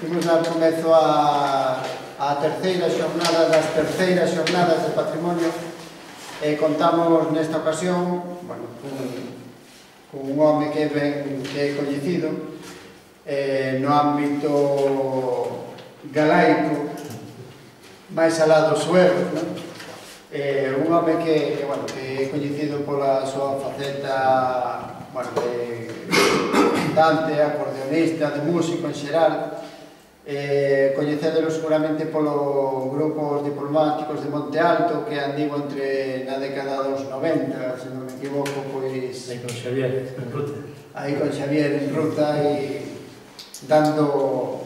Imos dar comezo a terceira xornada das terceiras xornadas de patrimonio e contamos nesta ocasión con un home que é coñecido no ámbito galaico máis alá dos suevos, un home que é coñecido pola súa faceta de cantante, acordeonista, de músico en xeral. Coñecédelo seguramente polo grupos diplomáticos de Monte Alto que andivo na década dos 90, se non me equivoco, pois... Aí con Xavier en ruta. Aí con Xavier en ruta e dando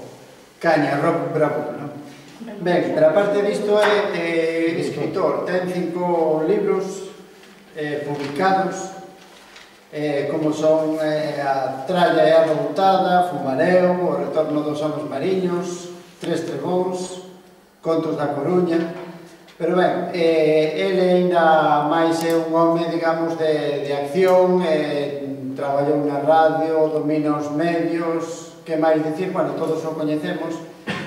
caña, rock bravo, non? Ben, pero aparte disto é escritor, ten 5 libros publicados, como son A tralla e a reboutada, Fumareo, O retorno dos homos mariños, Tres trebóns, Contos da Coruña. Pero ben, ele ainda máis é un home, digamos, de acción, traballou na radio, domina os medios, que máis dicir, todos o coñecemos,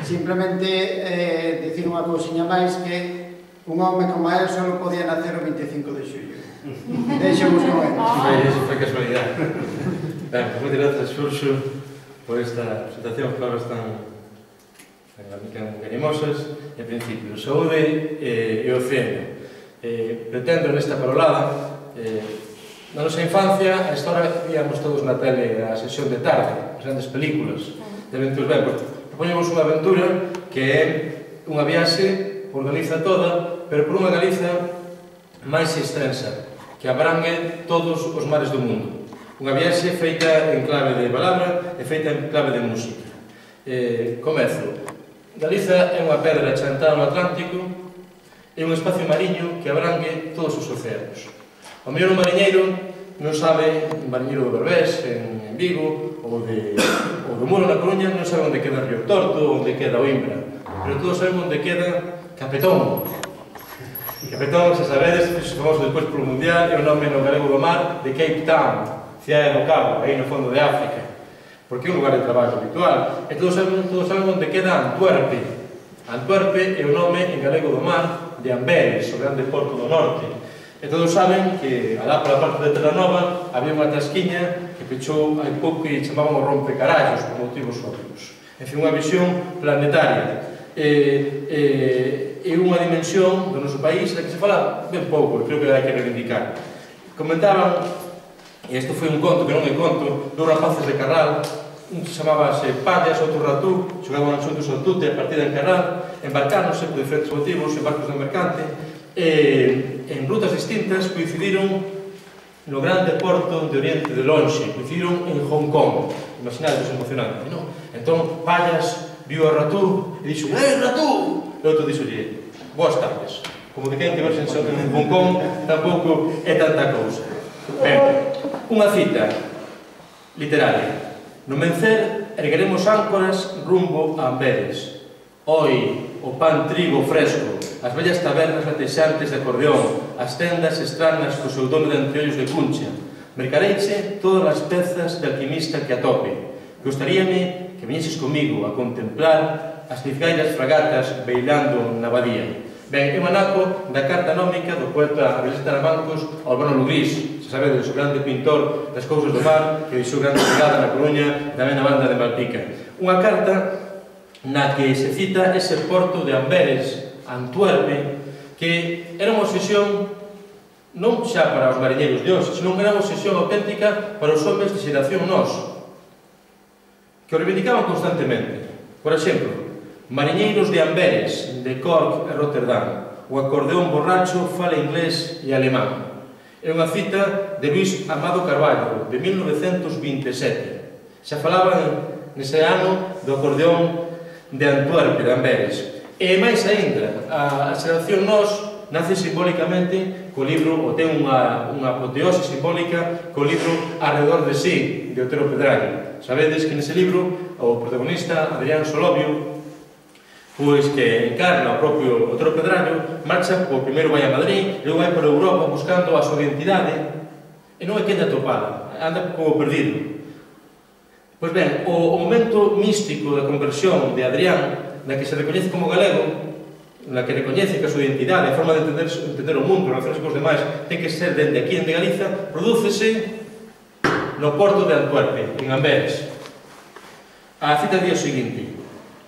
simplemente dicir unha cousiña máis que un home como a él só podía nacer o 25 de xullo. Deixemos con él. Foi casualidade. Ben, moitas grazas, Xurxo, por esta presentación, palabras tan animosas. En principio, saúde e océano. Pretendo nesta parolada, na nosa infancia, a história víamos todos na tele a sesión de tarde, as grandes películas de aventuras. Ben, propoñemos unha aventura que é unha viaxe por Galiza toda, pero por unha Galiza máis extensa, que abrangue todos os mares do mundo. Unha viaxe feita en clave de palabra e feita en clave de música. Comezo. Galiza é unha pedra chantada no Atlántico e un espacio mariño que abrangue todos os océanos. O mellor un mariñeiro non sabe, un mariñeiro do Berbés, en Vigo, ou do Muro na Coruña, non sabe onde queda Río Torto, onde queda Oimbra, pero todos sabemos onde queda Capetón. Capetón, se sabedes, fixo famoso despois polo Mundial, é o nome no galego do mar de Cape Town, cidade do Cabo, aí no fondo de África, porque é un lugar de traballo habitual. E todos sabemos onde queda Antuerpe. Antuerpe é o nome en galego do mar de Amberes, o grande porto do norte. E todos saben que alá pola parte de Terranova había unha tasquiña que pechou hai pouco e chamaban o rompecarallos por motivos óbvios. En fin, unha visión planetaria. É unha dimensión do noso país da que se fala ben pouco, e creo que hai que reivindicar. Comentaban, e isto foi un conto que non é conto, dos rapaces de Carral, un chamábase Pallas, outro Ratú, xogaban xuntos ao tute a partida en Carral, embarcáronse por diferentes motivos en barcos de mercante, e en rutas distintas coincidiron no grande porto de Oriente de Lonxe, coincidiron en Hong Kong. Imaginades, emocionante, non? Entón, Pallas viu a Ratú e dixo: Ratú! E outro dixolle: boas tardes. Como de quen que verse en Hong Kong tampouco é tanta cousa. Ben, unha cita literaria. No mencer ergueremos áncoras rumbo a Amberes. Hoi, o pan trigo fresco, as vellas tabernas latexantes de acordeón, as tendas estranas co seu dono de anteollos de cuncha. Mercareiche todas as pezas de alquimista que atope. Gostaríame que viñeses comigo a contemplar as cizgairas fragatas beilando na badía. Ben, é un anaco da carta nómica do poeta Abelés Taramancos ao Urbano Lugrís, se sabedes, o grande pintor das cousas do mar, que deixou grande chegada na Coruña e tamén na banda de Malpica. Unha carta na que se cita ese porto de Amberes, Antuerpe, que era unha obsesión non xa para os mariñeiros de hoxe, senón que era unha obsesión auténtica para os homens de xeración noso, que o reivindicaban constantemente. Por exemplo, mariñeiros de Amberes, de Cork e Rotterdam, o acordeón borracho fala inglés e alemán. É unha cita de Luís Amado Carballo, de 1927. Xa falaban nese ano do acordeón de Antuerpe, de Amberes. E máis aínda, a xeración nos nace simbólicamente co libro, ou ten unha apoteose simbólica co libro Arredor de sí, de Otero Pedraño. Sabedes que nese libro o protagonista, Adrián Solovio, pois que encarna o propio Otero Pedraño, marcha, o primeiro vai a Madrid, e logo vai por Europa buscando a súa identidade, e non é que anda atopada, anda como perdido. Pois ben, o momento místico da conversión de Adrián, na que se recoñece como galego, na que recoñece que a súa identidade, a forma de entender o mundo, relacións cos demais, ten que ser dende aquí, dende Galiza, prodúcese no porto de Antuerpe, en Amberes. A cita día seguinte,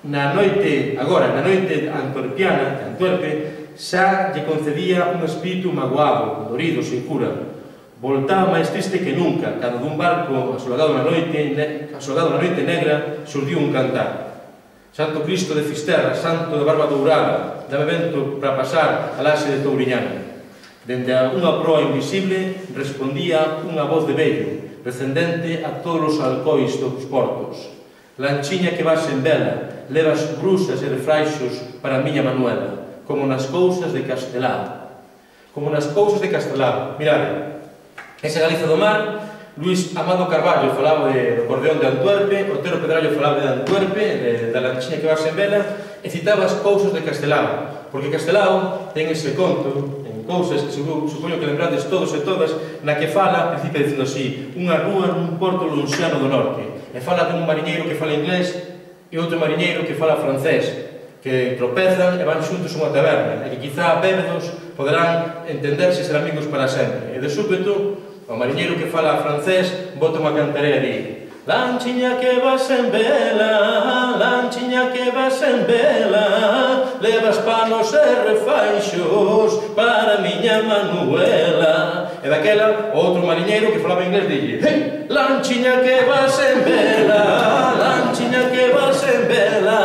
na noite antuerpiana, de Antuerpe, xa lle concedía un espírito magoado, dorido, sin cura. Voltaba máis triste que nunca, cando dun barco asolagado na noite negra, surdiu un cantar. Santo Cristo de Fisterra, santo de barba dourada, dame vento para pasar a laxe de Touriñana. Dende unha proa invisible respondía unha voz de vello, recendente a todos os alcois dos portos. Lanchiña que vas en vela, levas brusas e refraixos para a miña Manuela, como nas cousas de Castelao. Como nas cousas de Castelao. Mirade, esa Galiza do mar, Luis Amado Carballo falaba do acordeón de Antuerpe, Otero Pedrallo falaba de Antuerpe, da lanchiña que vas en vela, e citaba as cousas de Castelao, porque Castelao ten ese conto, en cousas que supoño que lembrades todos e todas, na que fala, principia dicindo así, unha rúa nun porto lonxano do norte, e fala dun mariñeiro que fala inglés e outro mariñeiro que fala francés, que tropezan e van xuntos a unha taberna, e que quizá bébedos poderán entenderse e ser amigos para sempre. E de súpeto, o mariñeiro que fala francés bota unha cantarea e di: lanchiña que vas en vela, lanchiña que vas en vela, levas panos e refaixos para miña Manuela. E daquela, o outro mariñeiro que falaba inglés dille: hey, lanchiña que vas en vela, lanchiña que vas en vela.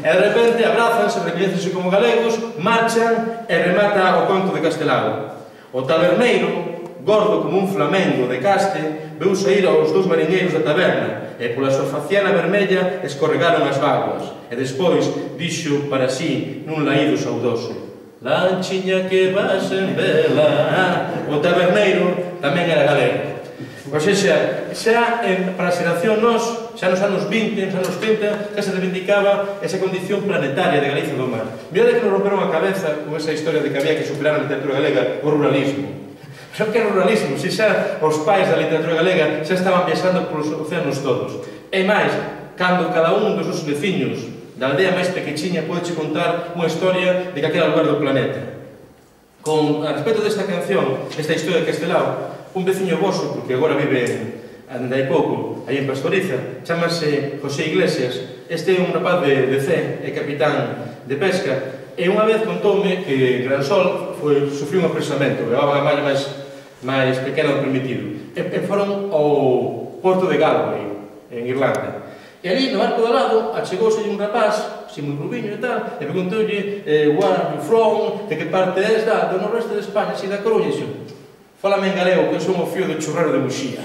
E de repente abrazanse, recoñécense como galegos, marchan e remata o conto de Castelao. O taberneiro, gordo como un flamengo de caste, veu saír aos dous mariñeiros da taberna e pola súa faciana vermella escorregaron as vaguas e despois dixo para sí nun laído saudoso: lanchiña que vas en vela. O taberneiro tamén era galego. Pois xa para a xeración nos, xa nos anos 20, nos anos 30, xa se reivindicaba esa condición planetaria de Galiza do mar. Mirade que nos romperon a cabeza con esa historia de que había que superar na literatura galega o ruralismo. Pero que é ruralismo? Se xa os pais da literatura galega xa estaban viaxando polos océanos todos. E máis, cando cada un dos nosos veciños da aldea máis pequechiña pode contar unha historia de calquera lugar do planeta. A respecto desta canción, esta historia de Castelao, un veciño voso, porque agora vive hai pouco, aí en Pastoriza, chamase José Iglesias. Este é un rapaz de C, é capitán de pesca, e unha vez contoume que Gran Sol sufriu un apresamento, levaba a malla máis pequena do permitido, e foron ao porto de Galway, en Irlanda. E ali, no barco do lado, achegouse un rapaz, así moi rubiño e tal, e preguntoulle: where are you from? De que parte és? Do noroeste de España, así da Coruña. E dixo: fálame en galego, que eu son o fío do churrero de Muxía.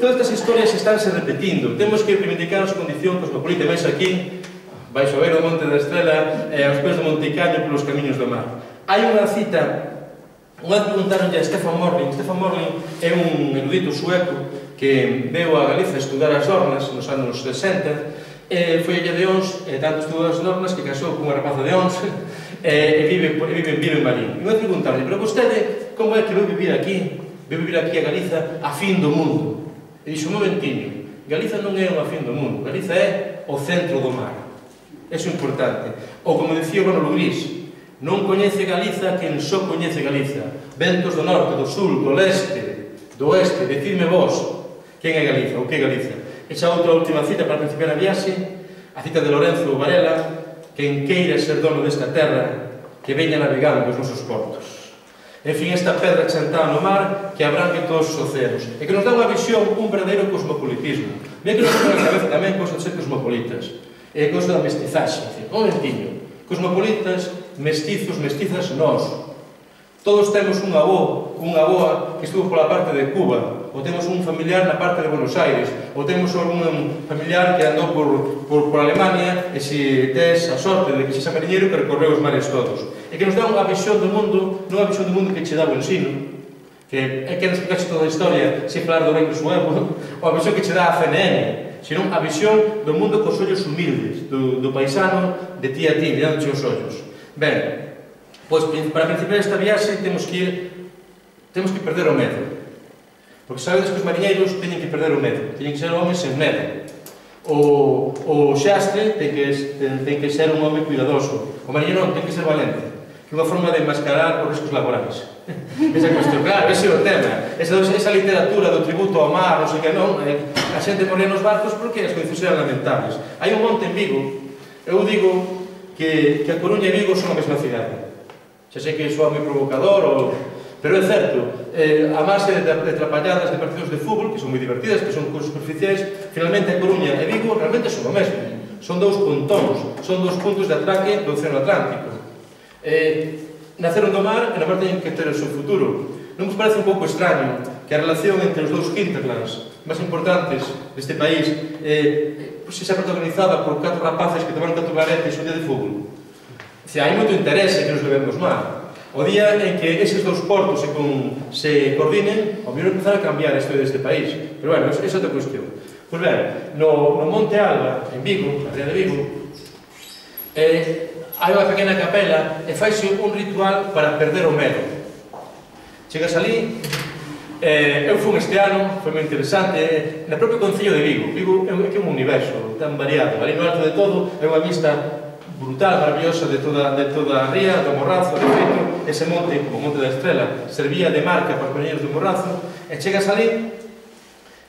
Todas estas historias estánse repetindo. Temos que reivindicar a súa condición cosmopolita. Vais aquí, vais a ver o Monte da Estrela e aos pés do Monte Caño polos camiños do mar. Hai unha cita. Unha vez preguntaronlle a Stefan Morling. Stefan Morling é un erudito sueco que veu a Galiza a estudar as Dornas nos anos 60, e foi a de Ons, e tanto estudou as Dornas que casou con unha rapaza de Ons, e vive en Marín. E unha vez preguntaronlle: pero vostede, como é que veu vivir aquí? Veu vivir aquí a Galiza a fin do mundo? E dixo: un momentiño, Galiza non é unha fin do mundo, Galiza é o centro do mar. Eso é importante. Ou como dicía Manolo Gris: non coñece Galiza quen só coñece Galiza. Ventos do norte, do sul, do leste, do oeste, decidme vos quen é Galiza, ou que é Galiza. E xa outra última cita para principiar a viaxe, a cita de Lorenzo Varela: quen queira ser dono desta terra, que veña navegando os nosos portos. En fin, esta pedra chantada no mar que abrangue todos os océanos e que nos dá unha visión, un verdadeiro cosmopolitismo. Mira que nos dá na cabeza tamén cosa de ser cosmopolitas e cosa da mestizaxe. Un momentiño, cosmopolitas, mestizos, mestizas, nós. Todos temos un avó, unha avoa que estuvo pola parte de Cuba, ou temos un familiar na parte de Buenos Aires, ou temos un familiar que andou por Alemania, e se tes a sorte de que sexa mariñeiro, que recorreu os mares todos. E que nos dá unha visión do mundo, non unha visión do mundo que che dá o ensino, que é que nos explicaxe toda a historia, se falar do reino suevo, ou a visión que che dá a CNN, senón a visión do mundo cos ollos humildes, do paisano de ti a ti, mirándoche os ollos. Ben, pois para principiar esta viaxe temos que perder o medo. Porque sabedes que os mariñeiros teñen que perder o medo, teñen que ser homes sen medo. O xastre ten que ser un home cuidadoso. O mariñeiro non, ten que ser valente, que é unha forma de enmascarar os riscos laborais. Esa cuestión, claro, ese é o tema. Esa literatura do tributo ao mar, non sei que non, a xente moría nos barcos porque as condicións eran lamentables. Hai un monte en Vigo, eu digo que a Coruña e Vigo son a mesma cidade. Xa sei que soa moi provocador, pero é certo, a base de atrapalladas de partidos de fútbol, que son moi divertidas, que son cousas superficiais, finalmente a Coruña e Vigo realmente son o mesmo. Son dous pontóns, son dous puntos de atraque do Océano Atlántico. Naceron do mar e na parte teñen que ter o seu futuro. Non vos parece un pouco extraño que a relación entre os dous hinterlands máis importantes deste país sexa protagonizada por 4 rapaces que tomaron 4 varetes un día de fútbol? Hai moito interese que nos levemos mal. O día en que eses dous portos se coordinen, ao mellor empezar a cambiar a historia deste país. Pero, bueno, esa é outra cuestión. Pois ben, no Monte Alba, en Vigo, na ría de Vigo, hai unha pequena capela e faise un ritual para perder o medo. Chegas ali, eu fui este ano, foi moi interesante, na propio Concello de Vigo. Vigo é un universo tan variado. Ali no alto de todo é unha vista brutal, maravillosa de toda a ría, do Morrazo. De feito, ese monte, como o Monte da Estrela, servía de marca para os mariñeiros do Morrazo, e chegas ali,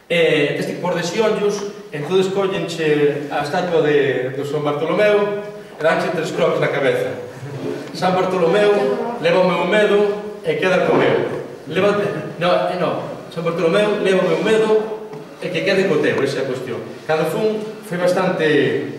este por de xionllos, entón escollenche a estatua do San Bartolomeu e danche 3 croques na cabeza. San Bartolomeu leva o meu medo e queda co meu. San Bartolomeu leva o meu medo e que quede co teu, esa é a cuestión. Cando fun, foi bastante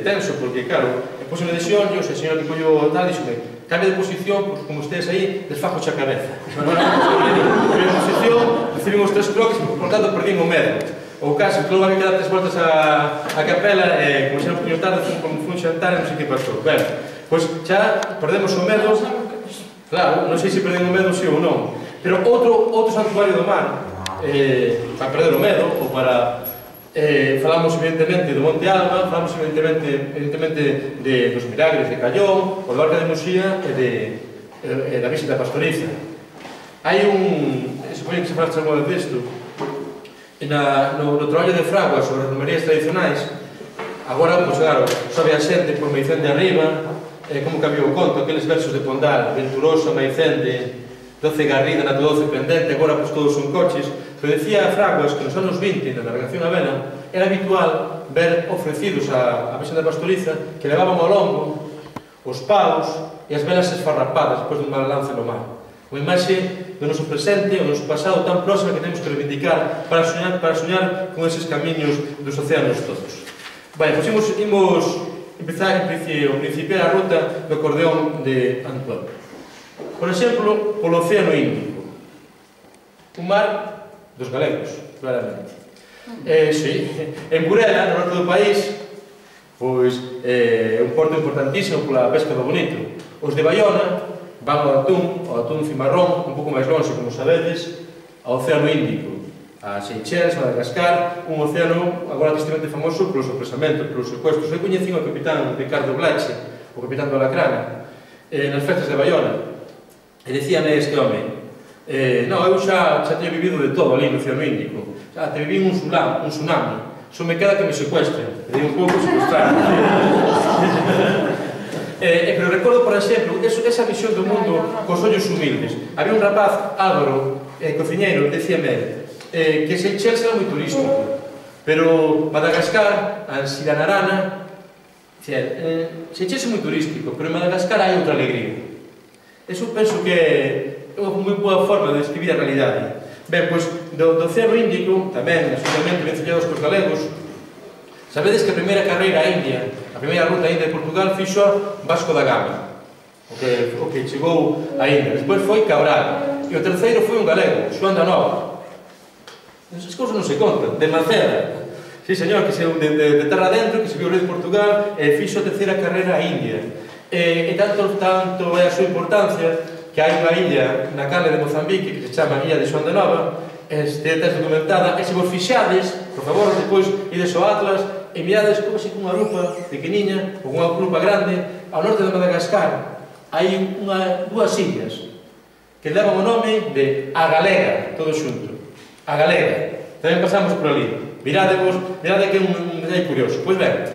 tenso, porque, claro, pus unha de xionllos, e o señor que collo tal, dixome, cambia de posición, porque como ustedes aí, desfajo xa a cabeza. Cambia de posición, recibín os 3 croques, e por tanto perdín o medo. O caso, que logo había que dar 3 voltas a capela, e como xa non poño tarde, como fun xantar, non sei que pasou. Ben, pois xa perdemos o medo, claro, non sei se perdín o medo si ou non, pero outro santuario do mar, para perder o medo, ou para... falamos evidentemente do Monte Alba, falamos evidentemente dos milagres de Callón, o do Arca de Muxía e da visita pastoriza. Hai supoño que se fala algo de isto, no traballo de Fraguas sobre as romerías tradicionais. Agora, pois claro, sobe a xente por Maicende arriba, como cambiou o conto, aqueles versos de Pondal, venturosa Maicende, 12 garrida na 12 pendente, agora pois todos son coches. Pero decía Fraguas que nos anos 20, na navegación a vela, era habitual ver ofrecidos a Visenda Pastoriza que levaban ao lombo os paus e as velas esfarrapadas despois dun mal lance no mar. Unha imaxe do noso presente, o noso pasado tan próximo que temos que reivindicar para soñar con eses camiños dos océanos todos. Pois imos empezar a principiar a ruta do acordeón de Antoine. Por exemplo, polo Océano Índico. Un mar dos galegos, claramente. Sí, en Burela, no norte do país, pois é un porto importantísimo pola pesca do bonito. Os de Baiona van ao atún cimarrón, un pouco máis longe, como sabedes, ao Océano Índico, a Seychelles, Madagascar, un océano agora tristemente famoso polo sorpresamentos, polos secuestros. Eu coñecín o capitán Ricardo Blache, o capitán do Alacrana, nas festas de Baiona, e dicíame este home, non, eu xa teño vivido de todo ali no Océano Índico. Xa te viví un tsunami. Só me queda que me secuestren. E un pouco secuestrar. Pero recordo, por exemplo, esa visión do mundo cos ollos humildes. Había un rapaz, Álvaro, cociñeiro, decíame que Seychelles era moi turístico. Pero Madagascar, Ansiranarana, Seychelles é moi turístico, pero en Madagascar hai outra alegría. Eso penso que é unha moi boa forma de describir a realidade. Ben, pois, do Océano Índico, tamén, absolutamente vencellados cos galegos, sabedes que a primeira carreira a India, a primeira ruta a India de Portugal, fixo Vasco da Gama, o que chegou a India. Despois foi Cabral, e o terceiro foi un galego, Xoán da Nova. Esas cousas non se contan, de Maceda. Sí, señor, que se de terra dentro, que se viu o rei de Portugal, e fixo a terceira carreira a India. E tanto é a súa importancia que hai unha illa na canle de Mozambique que se chama Illa de Xoán da Nova, está documentada, e se vos fixades, por favor, depois ides ao Atlas e mirades como se cunha lupa pequeniña ou unha lupa grande ao norte de Madagascar hai dúas illas que levan o nome de A Galega, todo xunto. a galega. Tamén pasamos por ali. Mirade que é un detalle curioso. Pois ben,